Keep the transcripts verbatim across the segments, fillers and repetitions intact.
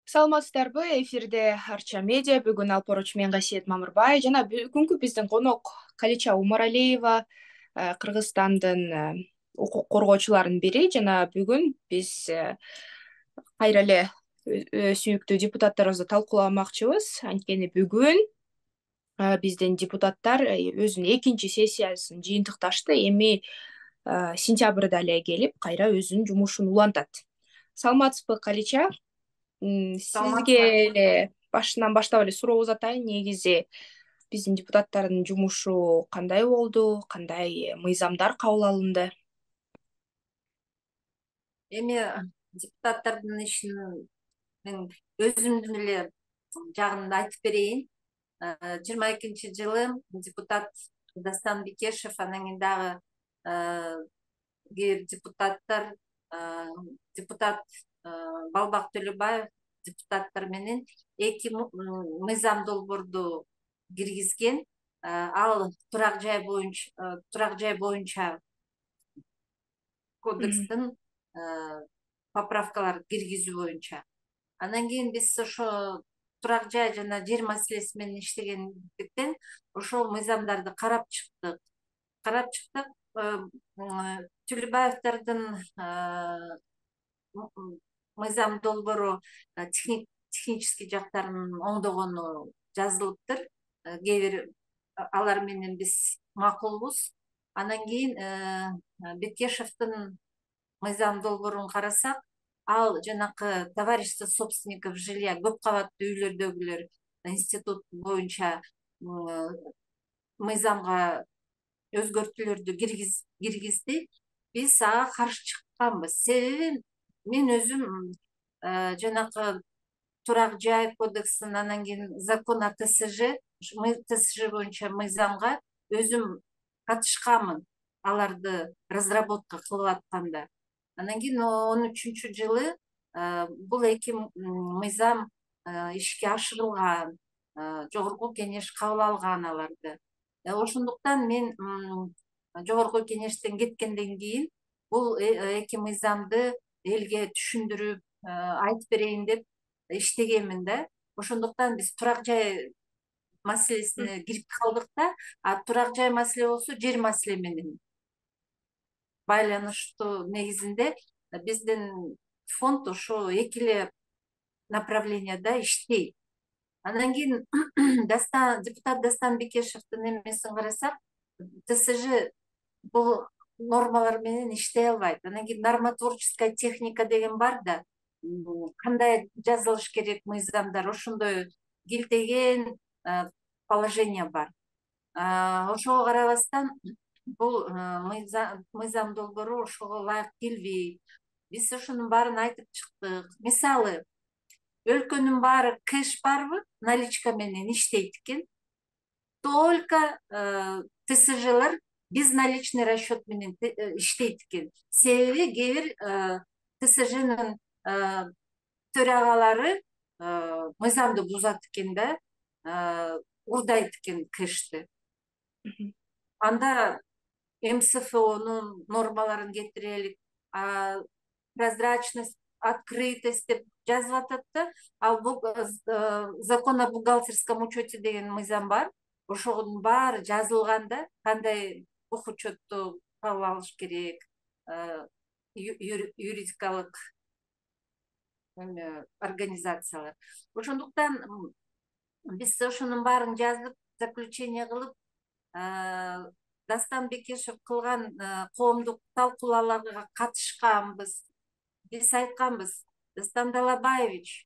Саламатсыздарбы? Эфирде Арча медиа. Бүгүн Алпоруч мен Гасиет Мамырбай жана бүгүнкү биздин конок Калича Умаралиева, э, Кыргызстандын э, укук коргоочуларынын бири жана бүгүн биз э, кайра эле э, э, сүйүктүү депутаттарыбызды талкууламакчыбыз. Анткени бүгүн э, биздин депутаттар э, өзүнүн экинчи сессиясын жыйынтыкташты. Эми э, сентябрда эле келип, кайра өзүнүн жумушун улантат. Саламатсызбы, Калича? М, Сизге Саламатсызбы. эле башынан баштап эле суроо узатайын. Негизи биздин депутаттардын жумушу кандай болду? Кандай мыйзамдар кабыл алынды? Эми депутаттардын ишин мен өзүмдүн эле жагымды айтып берейин. жыйырма экинчи жылы депутат Дастан Бекешев, анан кийин дагы кээ бир депутаттар, депутат Балбак Төлөбаев депутаттар менен эки мыйзам долбоорду киргизген. Ал турак жай боюнча турак жай боюнча Мгм. кодекстин поправкаларды киргизүү боюнча. Андан кийин биз ошо турак жай жана жер маселеси менен иштегендиктен ошол мыйзамдарды карап чыктык. Карап чыктык. Төлөбаевдардын мыйзам долбоору технический жактарын оңдогону жазылыптыр. Кээ бир алар менен биз макулбуз. Анан кийин Бекешевдин мыйзам долбоорун карасак, ал жанакы товарищество собственников жилья, көп кабаттуу үйлөрдөгүлөр институт боюнча мыйзамга өзгөртүүлөрдү киргизди. Биз ага каршы чыкканбыз. Себеби мен өзүм жанакы турак жай кодексин, анан кийин закон о ТСЖ, ТСЖ боюнча мыйзамга өзүм катышканмын, аларды разработка кылып атканда. Анан кийин он үчүнчү жылы бул эки мыйзам ишке ашырылган, жогорку кеңеш кабыл алган аларды. Ошондуктан мен жогорку кеңештен кеткенден кийин бул эки мыйзамды элге түшүндүрүп айтып берейин деп иштегенмин да. Ошондуктан биз турак жай маселесине кирип калдык да, а турак жай маселе болсо жер маселе менен байланыштуу негизинде биздин фонд ошо эки эле направленияда иштейт. Андан кийин депутат Дастан Бекешевдин эмесин карасак, ТСЖ бул нормалар менен иштей албайт. Анан кийин нормотворческая техника деген бар да, кандай жазылыш керек мыйзамдар, ошондой килтеген положение бар. Ошого карабастан бул мыйзам долбоору ошого ылайык келбейт. Биз ошонун баарын айтып чыктык. Мисалы, өлкөнүн баары кэш барбы, наличка менен иштейт экен. Только ТСЖлар безналичный расчет менен иштейт экен. Себеби кээ бир ТСЖнын төрагалары мыйзамды бузат экен да, урдайт экен кэшти. Анда МСФОнун нормаларын кетирелик, прозрачность, открытость деп жазып атат да. Ал закон о бухгалтерском учете деген мыйзам бар. Ошонун баары жазылган да, кандай бук учетту кабыл алыш керек, юридикалык организациялар. Ошондуктан биз ошонун баарын жазып, заключение кылып, Дастан Бекешев кылган коомдук талкуулауларга катышканбыз. Биз айтканбыз: Дастан Далабаевич,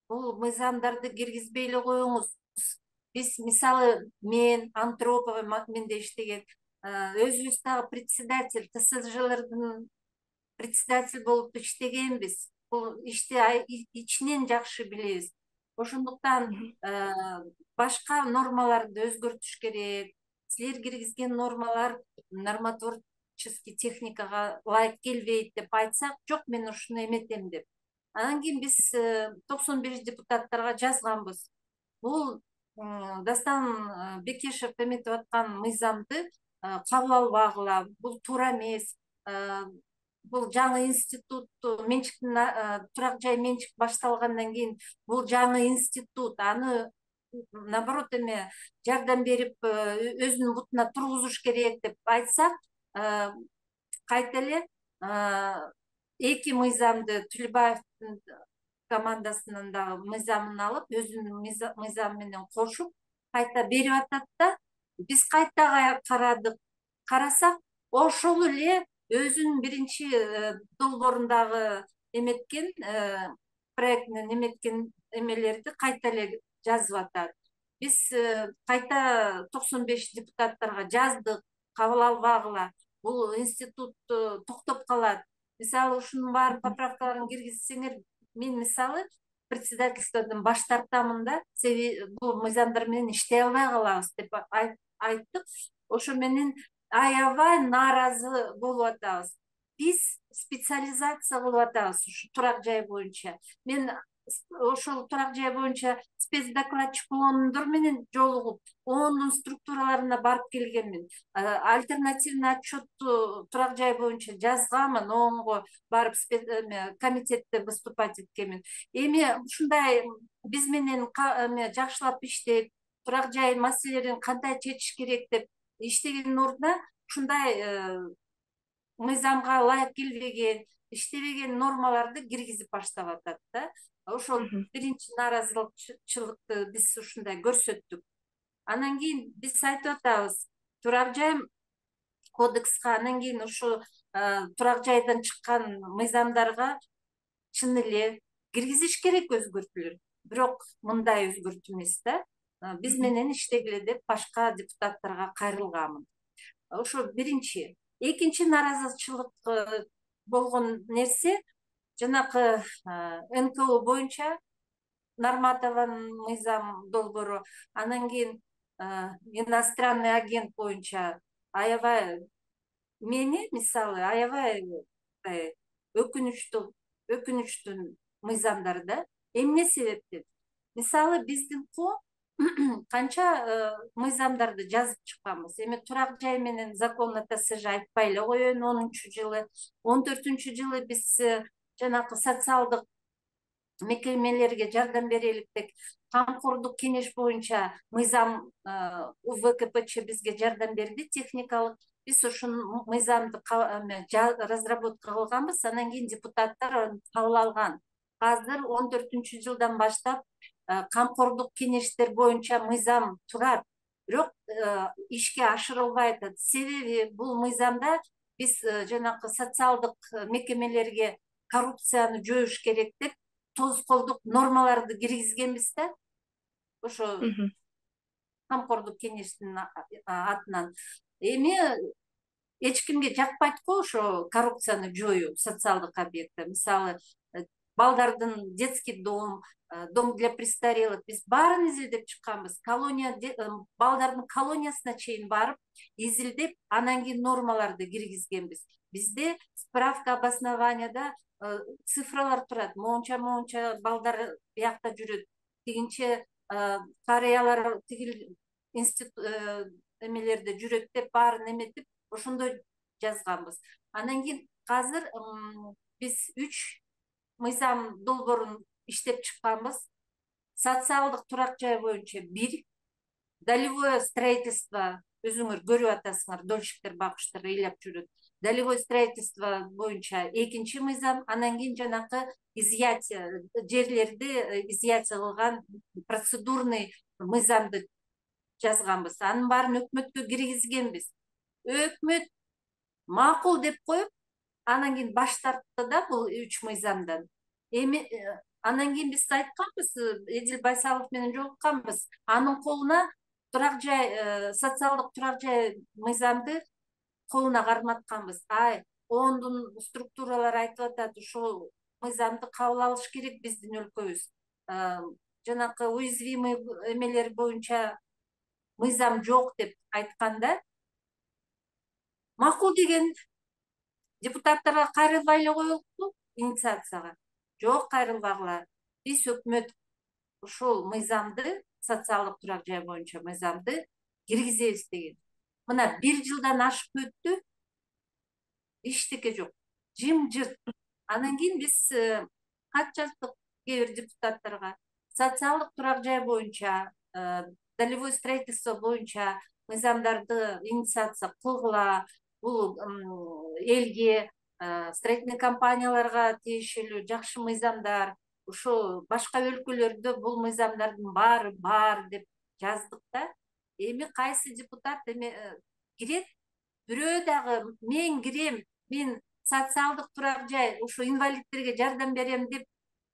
бул мыйзамдарды киргизбей эле коюңуз. Биз, мисалы, мен Антропова менде иштеген, өзүбүз дагы председатель, ТСЖлардын председатель болуп иштегенбиз. Бул ишти ичинен жакшы билебиз. Ошондуктан башка нормаларды өзгөртүш керек. Силер киргизген нормалар нормотворческий техникага ылайык келбейт деп айтсак, жок, мен ушуну эметем деп. Анан кийин биз токсон беш депутаттарга жазганбыз. Бул Дастан Бекешев эметип аткан мыйзамды кабыл албагыла, бул туура эмес. бул жаңы институт менчиктин турак жай менчик башталгандан кийин бул жаңы институт аны наоборот эме жардам берип өзүнүн бутуна тургузуш керек деп айтсак, кайта эле эки мыйзамды Түлүбаевдин командасынын дагы мыйзамын алып өзүнүн мыйзамы менен кошуп кайта берип атат да, биз кайта карадык. Карасак ошол эле өзүнүн биринчи долбоорундагы эметкен проектинен эметкен эмелерди кайта эле жазып атат. Биз кайта токсон беш депутаттарга жаздык, кабыл албагыла, бул институт токтоп калат. Мисалы ушунун баарын поправкаларын киргизсеңер, мен мисалы председательстводон баш тартамын да, себеби бул мыйзамдар менен иштей албай калабыз деп айттык. Ошо менен аябай нааразы болуп атабыз. Биз специализация кылып атабыз ушу турак жай боюнча. Мен ошол турак жай боюнча спецдокладчик болгондор менен жолугуп, ондун структураларына барып келгенмин. Альтернативный отчетту турак жай боюнча жазганмын, оонго барып комитетте выступать эткенмин. Эми ушундай биз менен жакшылап иштеп, турак жай маселелерин кандай чечиш керек деп иштегендин ордуна ушундай мыйзамга ылайык келбеген, иштебеген нормаларды киргизип баштап атат да. Ошол биринчи нааразычылыкты биз ушундай көрсөттүк. Анан кийин биз айтып атабыз, турак жай кодекске, анан кийин ушу турак жайдан чыккан мыйзамдарга чын эле киргизиш керек өзгөртүүлөр. Бирок мындай өзгөртүү эмес да. Биз менен иштегиле деп башка депутаттарга кайрылганмын. Ошо биринчи. Экинчи нааразычылык болгон нерсе жанакы эн ка о боюнча Нарматованын мыйзам долбоору, анан кийин иностранный агент боюнча аябай мени мисалы аябай өкүнүчтүү өкүнүчтүү мыйзамдар да. Эмне себептен? Мисалы биздин ко канча мыйзамдарды жазып чыкканбыз. Эми турак жай менен закон о тэ эс же айтпай эле коеюн. онунчу жылы, он төртүнчү жылы биз жанакы социалдык мекемелерге жардам берелик деп камкордук кеңеш боюнча мыйзам у вэ ка пэ че бизге жардам берди, техникалык. Биз ушул мыйзамды разработка кылганбыз, анан кийин депутаттар аны кабыл алган. Азыр он төртүнчү жылдан баштап камкордук кеңештер боюнча мыйзам турат, бирок ишке ашырылбай атат. Себеби бул мыйзамда биз жанакы социалдык мекемелерге коррупцияны жоюш керек деп тоскоолдук нормаларды киргизгенбиз да. Ошо камкордук кеңештин атынан. Эми эч кимге жакпайт го ошо коррупцияны жоюу социалдык объектте. Мисалы балдардын детский дом, дом для престарелых, биз баарын изилдеп чыкканбыз. Колония, балдардын колониясына чейин барып изилдеп, анан кийин нормаларды киргизгенбиз. Бизде справка обоснованияда цифралар турат. Моунча моунча балдар биякта жүрөт. Тигинче карыялар тигил институт эмелерде жүрөт деп баарын эметип ошондой жазганбыз. Анан кийин азыр биз үч мыйзам долбоорун иштеп чыкканбыз. Социалдык турак жай боюнча бир, долевое строительство, өзүңөр көрүп атасыңар, дольщиктер, багыштар ыйлап жүрөт. Долевое строительство боюнча экинчи мыйзам, анан кийин жанакы изъятие, жерлерди изъятие кылган процедурный мыйзамды жазганбыз. Анын баарын өкмөткө киргизгенбиз. Өкмөт макул деп коюп, анан кийин баш тартты да бул үч мыйзамдан. Эми анан кийин биз айтканбыз, Эдил Байсалов менен жолукканбыз. Анын колуна турак жай, социалдык турак жай мыйзамды колуна карматканбыз. Ай, ондун структуралары айтып атат, ушул мыйзамды кабыл алыш керек биздин өлкөбүз. Жанакы уязвимый эмелер боюнча мыйзам жок деп айтканда, макул деген депутаттарга кайрылбай эле коелукту инициацияга. Жок, кайрылбагыла. Биз өкмөт ушул мыйзамды, социалдык турак жай боюнча мыйзамды киргизебиз деген. Мына бир жылдан ашып өттү, эчтеке жок. жымжырт. Анан кийин биз кат жаздык кээ бир депутаттарга. Социалдык турак жай боюнча, долевое строительство боюнча мыйзамдарды инициация кылгыла. Бул элге, строительный компанияларга тиешелүү жакшы мыйзамдар. Ошо башка өлкөлөрдө бул мыйзамдардын баары бар деп жаздык да. Эми кайсы депутат эми кирет, бирөө дагы мен кирем, мен социалдык турак жай, ошо инвалидтерге жардам берем деп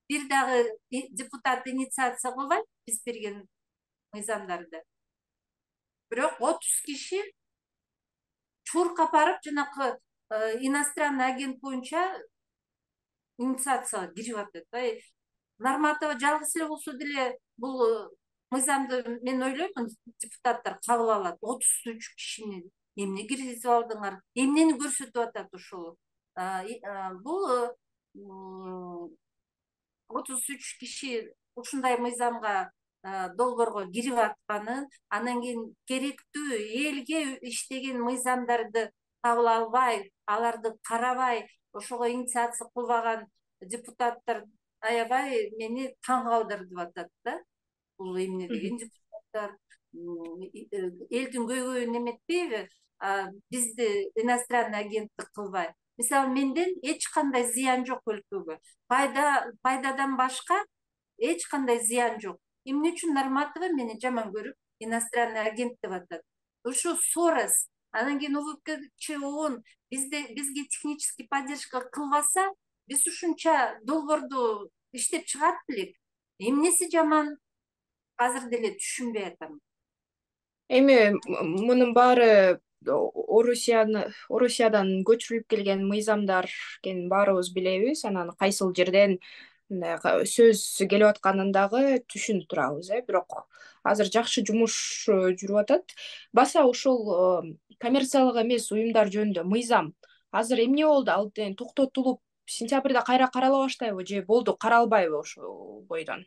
бир дагы депутат инициация кылбайт биз берген мыйзамдарды. Бирок отуз киши чуркап барып жанакы иностранный агент боюнча инициацияга кирип атат. Норматова жалгыз эле болсо деле бул мыйзамды мен ойлоймун депутаттар кабыл алат. отуз үч кишини эмне киргизип алдыңар, эмнени көрсөтүп атат ошол. Бул отуз үч киши ушундай мыйзамга, долбоорго кирип атканын, анан кийин керектүү элге иштеген мыйзамдарды кабыл албай, аларды карабай, ошого инициация кылбаган депутаттар аябай мени таң калтырып атат да. Бул эмне деген депутаттар, элдин көйгөйүн эметпейби, бизди иностранный агенттик кылбай. Мисалы, менден эч кандай зыян жок өлкөгө. Пайда пайдадан башка эч кандай зыян жок. Эмне үчүн Норматова мени жаман көрүп иностранный агент деп атат? Ошо Сорос, анан кийин УВКЧ ООН бизде бизге технический поддержка кылбаса, биз ушунча долбоорду иштеп чыгат белек. Эмнеси жаман? Азыр деле түшүнбөй атам. Эми мунун баары Орусиядан көчүрүлүп келген мыйзамдар экенин баарыбыз билебиз. Анан кайсыл жерден сөз келип атканын дагы түшүнүп турабыз, э бирок азыр жакшы жумуш жүрүп атат. Баса ушул коммерциялык эмес уюмдар жөнүндө мыйзам азыр эмне болду? Ал токтотулуп, сентябрда кайра карала баштайбы же болду, каралбайбы ошол бойдон?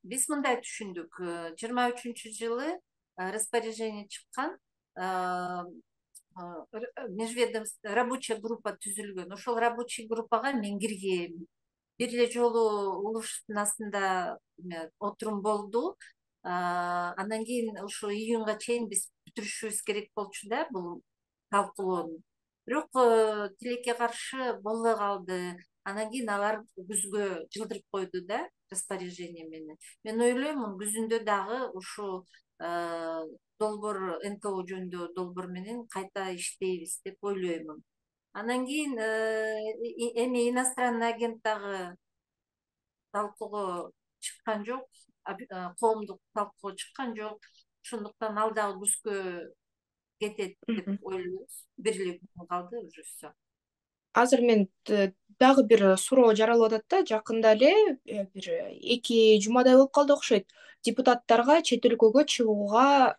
Биз мындай түшүндүк. жыйырма үчүнчү жылы распоряжение чыккан, межведомственная рабочая группа түзүлгөн. Ошол рабочий группага мен киргем. Бир эле жолу улуштун астында отурум болду. Андан кийин ошо июнга чейин биз бүтүрүшүбүз керек болчу да бул талкуулоону. Бирок тилекке каршы болбой калды. Анан кийин алар күзгө жылдырып койду да распоряжение менен. Мен ойлоймун, күзүндө дагы ушу долбоор, эн ка о жөнүндө долбоор менен кайта иштейбиз деп ойлоймун. Анан кийин эми иностранный агент дагы талкууга чыккан жок, коомдук талкууга чыккан жок. Ошондуктан ал дагы күзгө кетет деп ойлойбуз. Бир эле күн калды уже все. Азыр мен дагы бир суроо жаралып атат да. Жакында эле бир эки жумадай болуп калды окшойт. Депутаттарга чет өлкөгө чыгууга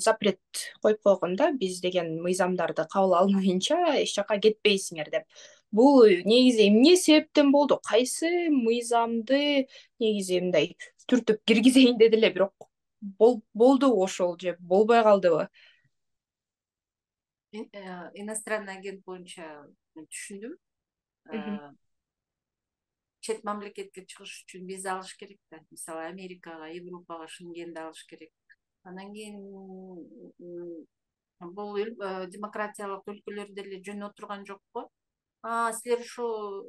запрет коюп койгон да. Биз деген мыйзамдарды кабыл алмайынча эч жака кетпейсиңер деп. Бул негизи эмне себептен болду? Кайсы мыйзамды негизи мындай түртүп киргизейин деди эле, бирок болдубу ошол же болбой калдыбы? Иностранный агент боюнча түшүндүм. Чет мамлекетке чыгыш үчүн виза алыш керек да. Мисалы, Америкага, Европага, Шенгенди алыш керек. Анан кийин бул демократиялык өлкөлөрдө эле жөн отурган жокпу? А, силер ушу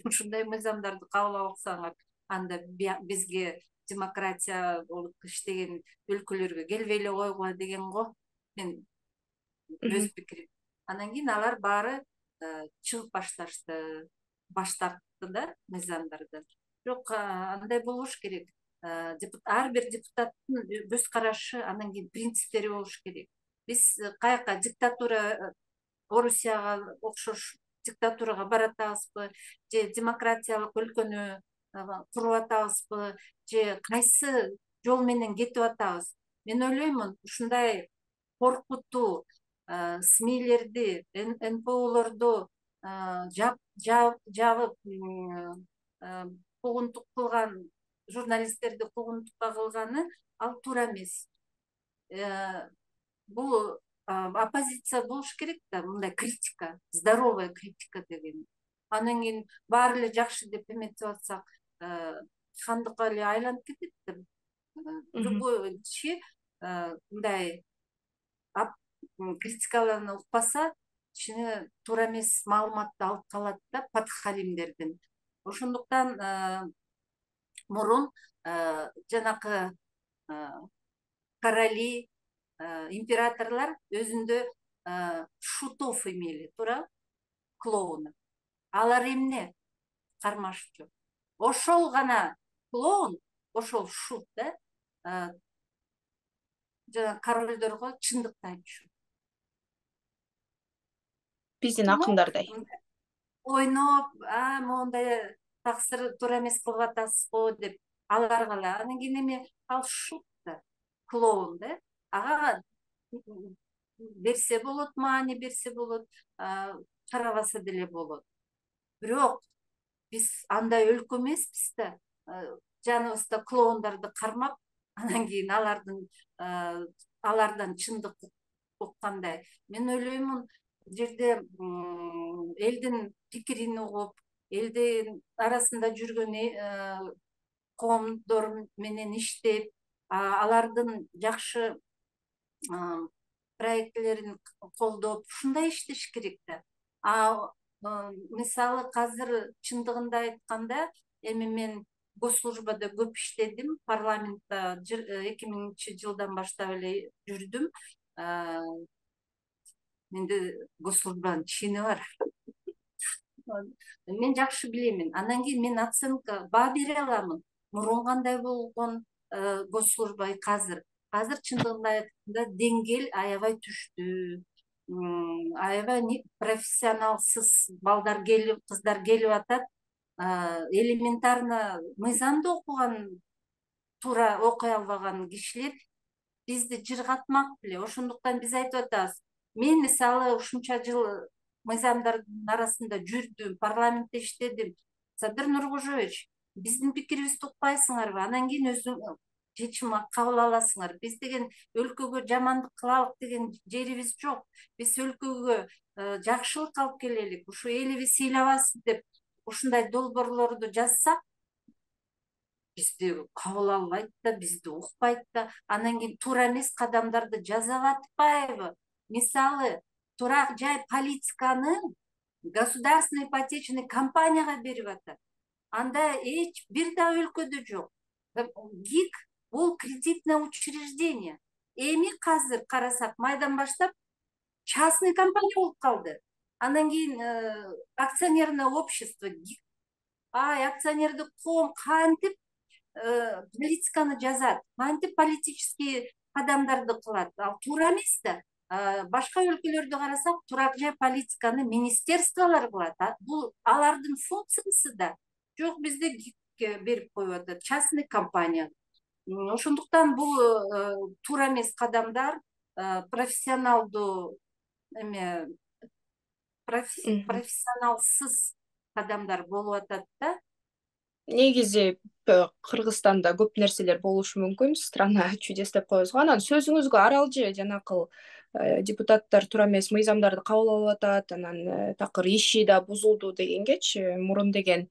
ушундай мыйзамдарды кабыл алсаңар, анда бизге демократия болуп иштеген өлкөлөргө келбей эле койгула деген го. Мен өз пикирим. Анан кийин алар баары чыгып башташты, баш тартты да мыйзамдардан. Бирок андай болуш керек. Ар бир депутаттын көз карашы, анан кийин принциптери болуш керек. Биз каяка диктатура, Орусияга окшош диктатурага баратабызбы, же демократиялык өлкөнү куруп атабызбы, же кайсы жол менен кетип атабыз? Мен ойлоймун, ушундай коркутуу СМИлерди, эн пэ олорду жабып, куугунтук кылган журналисттерди куугунтукка кылганы ал туура эмес. Бул оппозиция болуш керек да, мындай критика, здоровая критика деген. Анан кийин баары эле жакшы деп эметип атсак, хандыкка эле айланып кетет да. Любой киши мындай критикаларын укпаса, кичине туура эмес маалыматты алып калат да подхалимдерден. Ошондуктан мурун жанакы короли, императорлор өзүндө шутов имели, туура, клоуны. Алар эмне? Кармашчу. Ошол гана клоун, ошол шут да, жана королдорго чындыкты айтчу. Биздин акындардай. Ойноп, а моундай таксыр туура эмес кылып атасыз го деп аларга эле. Анан кийин эме ал шут да, клоун да. Ага берсе болот, маани берсе болот, карабаса деле болот. Бирок биз андай өлкө эмеспиз да, жаныбызда клоундарды кармап, анан кийин алардын алардан чындык уккандай. Мен ойлоймун, бул жерде элдин пикирин угуп, элдин арасында жүргөн коомдор менен иштеп, алардын жакшы проекттерин колдоп, ушундай иштеш керек да. Мисалы азыр чындыгында айтканда, эми мен госслужбада көп иштедим, парламентте эки миңинчи жылдан баштап эле жүрдүм. Менде госслужбанын чини бар. Мен жакшы билемин. Анан кийин мен оценка баа бере аламын. Мурун кандай болгон госслужба, азыр. Азыр чындыгында айтканда деңгээл аябай түштү. Аябай профессионалсыз балдар келип, кыздар келип атат. Элементарно мыйзамды окуган, туура окуй албаган кишилер бизди жыргатмак беле. Ошондуктан биз айтып атабыз. Мен мисалы ушунча жыл мыйзамдардын арасында жүрдүм, парламентте иштедим. Садыр Нуркожоевич, биздин пикирибизди укпайсыңарбы? Анан кийин өзүң чечим кабыл аласыңар. Биз деген өлкөгө жамандык кылалык деген жерибиз жок. Биз өлкөгө жакшылык алып келелик, ушу элибиз ыйлабасын деп ушундай долбоорлорду жазсак, бизди кабыл албайт да, бизди укпайт да. Анан кийин туура эмес кадамдарды жасап атпайбы? Мисалы, турак жай политиканы государственный ипотечный компанияга берип атат. Анда эч бир да өлкөдө жок. ГИК бул кредитное учреждение. Эми азыр карасак, майдан баштап частный компания болуп калды. Анан кийин акционерное общество ГИК. Ай, акционердик коом кантип политиканы жазат, кантип политический кадамдарды кылат. Ал туура эмес да. Башка өлкөлөрдү карасак, турак жай политиканы министерстволор кылат. Бул алардын функциясы да. Жок, бизде ГИКке берип коюп атат, частный компания. Ошондуктан бул туура эмес кадамдар, профессионалдуу эме профессионалсыз кадамдар болуп атат да. Негизи Кыргызстанда көп нерселер болушу мүмкүн. Страна чудес деп коебуз го. Анан сөзүңүзгө аралжы жанакыл депутаттар туура эмес мыйзамдарды кабыл алып атат, анан такыр иши да бузулду дегенгечи, мурун деген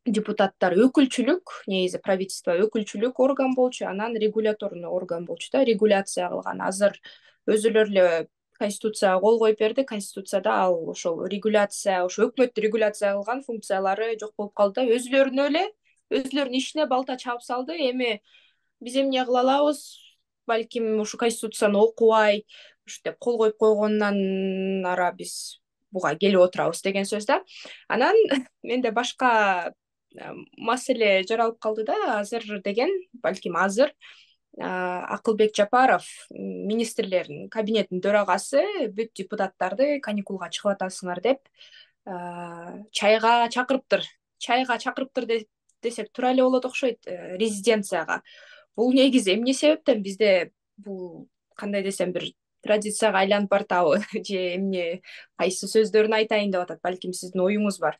депутаттар өкүлчүлүк, негизи правительство өкүлчүлүк орган болчу, анан регуляторный орган болчу да, регуляция кылган. Азыр өзүлөр эле Конституцияга кол коюп берди. Конституцияда ал ошол регуляция, ошо өкмөттү регуляция кылган функциялары жок болуп калды да. Өзүлөрүнө эле, өзүлөрүнүн ишине балта чаап салды. Эми биз эмне кыла алабыз? Балким ушу Конституцияны окубай, ушу деп кол коюп койгондон ара биз буга келип отурабыз деген сөз да. Анан менде башка маселе жаралып калды да. Азыр деген, балким азыр Акылбек Жапаров, министрлердин кабинетинин төрагасы, бүт депутаттарды каникулга чыгып атасыңар деп чайга чакырыптыр. Чайга чакырыптыр десек туура эле болот окшойт, резиденцияга. Бул негизи эмне себептен? Бизде бул кандай десем бир традицияга айланып баратабы же эмне, кайсы сөздөрүн айтайын деп атат? Балким сиздин оюңуз бар.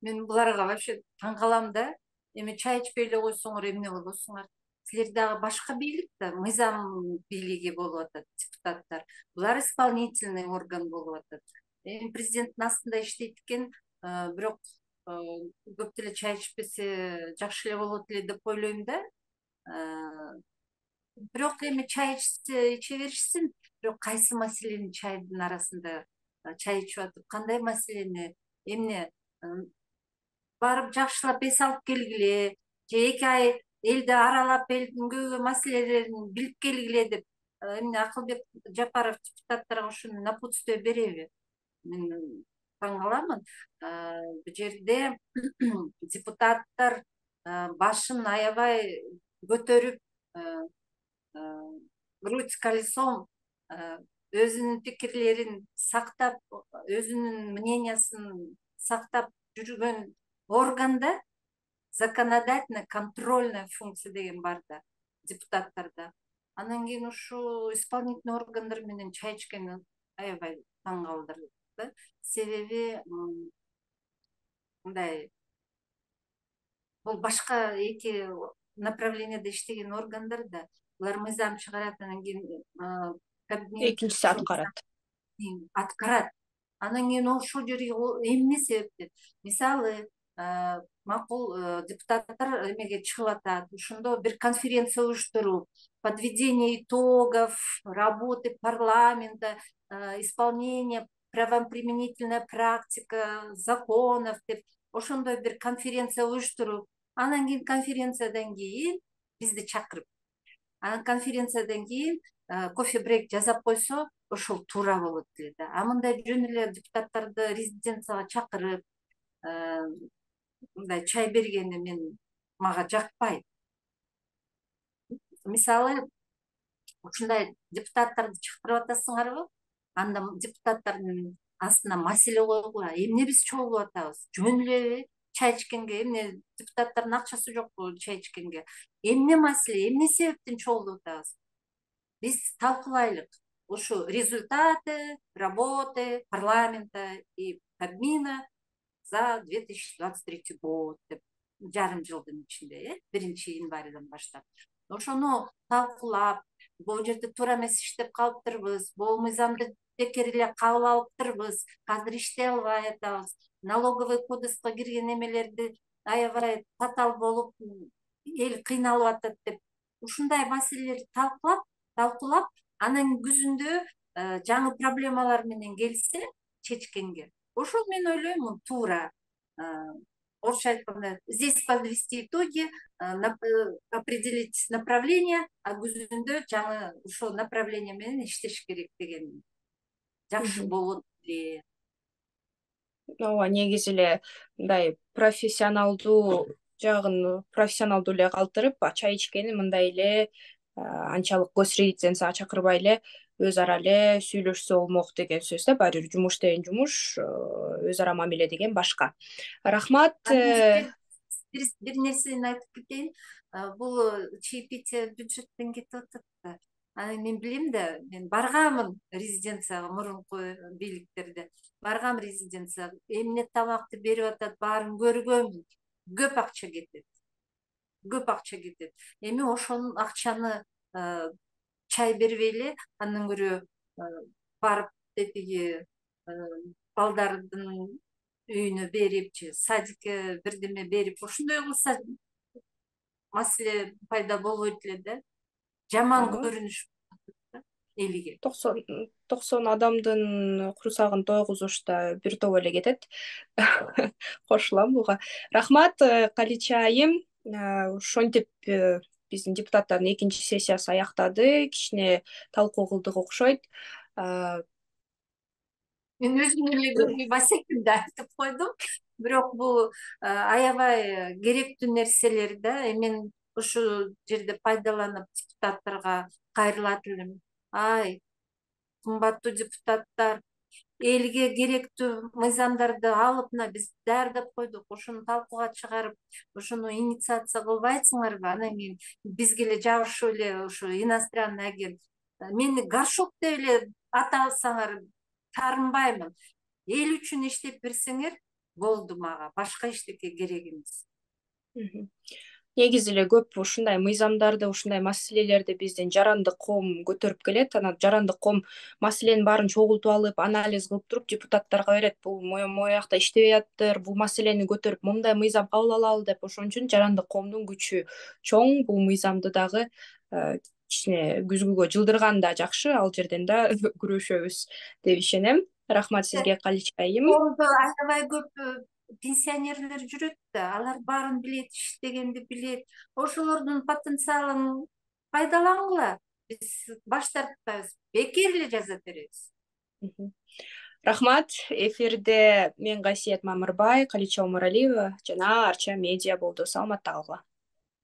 Мен буларга вообще таң калам да. Эми чай ичпей эле койсоңор эмне болосуңар? силер дагы башка бийлик да, мыйзам бийлиги болуп атат депутаттар. Булар исполнительный орган болуп атат. Эми президенттин астында иштейт экен, бирок көп деле чай ичпесе жакшы эле болот эле деп ойлойм да. Бирок эми чай ичсе иче беришсин, бирок кайсы маселени чайдын арасында чай ичип атып, кандай маселени эмне барып жакшылап эс алып келгиле, же эки ай элди аралап элдин көп маселелерин билип келгиле деп эмне Акылбек Жапаров депутаттарга ушуну напутствие береби? Мен таң каламын. Бул жерде депутаттар башын аябай көтөрүп, руль колесом өзүнүн пикирлерин сактап, өзүнүн мнениясын сактап жүргөн органда законодательная, контрольная функция деген бар да депутаттарда. Анан кийин ушу исполнительный органдар менен чай ичкен аябай таң калтырды да. Себеби мындай, бул башка эки направленияда иштеген органдар да, булар мыйзам чыгарат, анан кийин экинчиси аткарат. Аткарат. Анан кийин ошол жерге эмне себептен? Мисалы, макул депутаттар эмеге чыгып атат, ошондо бир конференция уюштуруп, подведение итогов работы парламента, исполнение правоприменительная практика законов деп ошондой бир конференция уюштуруп, анан кийин конференциядан кийин бизди чакырып, анан конференциядан кийин кофе брейк жасап койсо, ошол туура болот эле да. А мындай жөн эле депутаттарды резиденцияга чакырып мындай чай бергени мен мага жакпайт. Мисалы, ушундай депутаттарды чакырып атасыңарбы? Анда депутаттардын астына маселе койгула, эмне биз чогулуп атабыз? Жөн элеби чай ичкенге? Эмне депутаттардын акчасы жокпу чай ичкенге? Эмне маселе, эмне себептен чогулуп атабыз? Биз талкуулайлык. Ушу результаты работы парламента и Кабмина за две тысячи двадцать третий год деп жарым жылдын ичинде, биринчи январдан баштап. Ошону талкуулап, бул жерде туура эмес иштеп калыптырбыз, бул мыйзамды бекер эле кабыл алыптырбыз, азыр иштей албай атабыз, налоговый кодекске кирген эмелерди аябай татаал болуп, эл кыйналып атат деп, ушундай маселелерди талкуулап, талкуулап, анан күзүндө жаңы проблемалар менен келсе чечкенге, ошол мен ойлойм туура. Орусча айтканда, здесь подвести итоги, определить направление, а күзүндө жаңы ошол направление менен иштеш керек деген жакшы болот эле. Ооба, негизи эле мындай профессионалдуу жагын профессионалдуу эле калтырып, чай ичкени мындай эле анчалык госрезиденцияга чакырбай эле өз ара эле сүйлөшсө болмок деген сөз да. Баары бир жумуш деген жумуш, өз ара мамиле деген башка. Рахмат. Бир нерсени айтып кетейин. Бул чаепитие бюджеттен кетип атат да. Анан мен билем да, мен баргамын резиденцияга, мурунку бийликтерде баргам резиденцияга, эмне тамакты берип атат, баарын көргөмүн. Көп акча кетет. Көп акча кетет. Эми ошол акчаны чай бербей эле, андан көрө барып тетиги балдардын үйүнө берип, же садикке бирдеме берип, ошондой кылса маселе пайда болбойт эле да. Жаман көрүнүш элиге. токсон адамдын курсагын тойгузушта бир топ эле кетет. Кошулам буга. Рахмат, Калича айым. Ошентип биздин депутаттардын экинчи сессиясы аяктады. Кичине талкуу кылдык окшойт. Мен өзүм эле көрбөй басекимди айтып койдум. Бирок бул аябай керектүү нерселер да. Мен ушул жерде пайдаланып депутаттарга кайрылат элем. Ай, кымбаттуу депутаттар, элге керектүү мыйзамдарды алып, мына биз даярдап койдук, ошону талкууга чыгарып, ошону инициация кылбайсыңарбы? Анан кийин бизге эле жабышып эле ушу иностранный агент. Мени горшок деп эле атасаңар таарынбаймын. Эл үчүн иштеп берсеңер болду, мага башка эчтеке керек эмес. негизи эле көп ушундай мыйзамдарды, ушундай маселелерди биздин жарандык коом көтөрүп келет. Анан жарандык коом маселенин баарын чогултуп алып, анализ кылып туруп депутаттарга берет. Бул могу жакта иштебей атыптыр, бул маселени көтөрүп моундай мыйзам кабыл алалы деп. Ошон үчүн жарандык коомдун күчү чоң. Бул мыйзамды дагы кичине күзгүгө жылдырган да жакшы, ал жерден да күрөшөбүз деп ишенем. Рахмат сизге, Калича айым. Коомдо аябай көп пенсионерлер жүрөт да, алар баарын билет, иштегенди билет. Ошолордун потенциалын пайдалангыла. Биз баш тартпайбыз, бекер эле жаза беребиз. Рахмат. Эфирде мен Гасиет Мамырбай, Калича Умаралиева жана Арча медиа болду. Саламатта калгыла.